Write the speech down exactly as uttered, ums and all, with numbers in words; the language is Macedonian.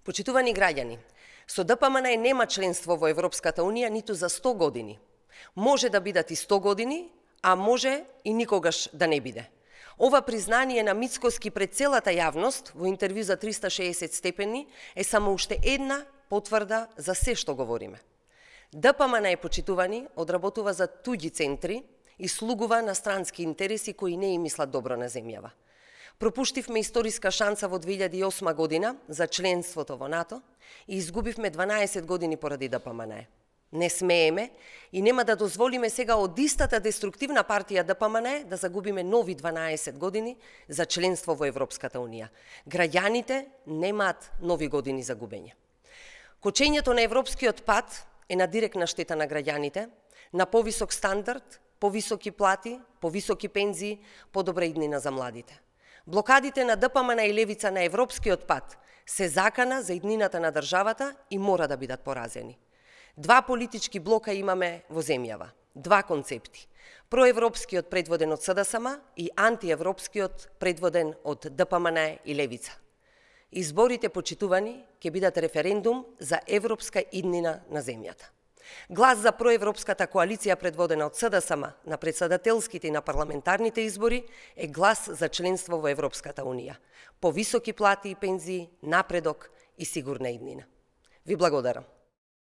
Почитувани граѓани, со Д П М Н нема членство во Европската Унија ниту за сто години. Може да бидат и сто години, а може и никогаш да не биде. Ова признание на Мицкоски пред целата јавност во интервју за триста и шеесет степени е само уште една потврда за се што говориме. Д П М Н, почитувани, одработува за туѓи центри и слугува на странски интереси кои не им мислат добро на земјава. Пропуштивме историска шанса во две илјади и осма година за членството во НАТО и изгубивме дванаесет години поради Д П М Н. Не смееме и нема да дозволиме сега од истата деструктивна партија Д П М Н да загубиме нови дванаесет години за членство во Европската Унија. Граѓаните немаат нови години за губење. Кочењето на европскиот пат е на директна штета на граѓаните, на повисок стандард, повисоки плати, повисоки пензии, подобра иднина за младите. Блокадите на Д П М Н и левица на европскиот пат се закана за иднината на државата и мора да бидат поразени. Два политички блока имаме во земјава, два концепти. Проевропскиот предводен од С Д С М и антиевропскиот предводен од Д П М Н и левица. Изборите, почитувани, ќе бидат референдум за европска иднина на земјата. Глас за проевропската коалиција предводена од С Д С М на претседателските и на парламентарните избори е глас за членство во Европската Унија. Повисоки плати и пензии, напредок и сигурна иднина. Ви благодарам.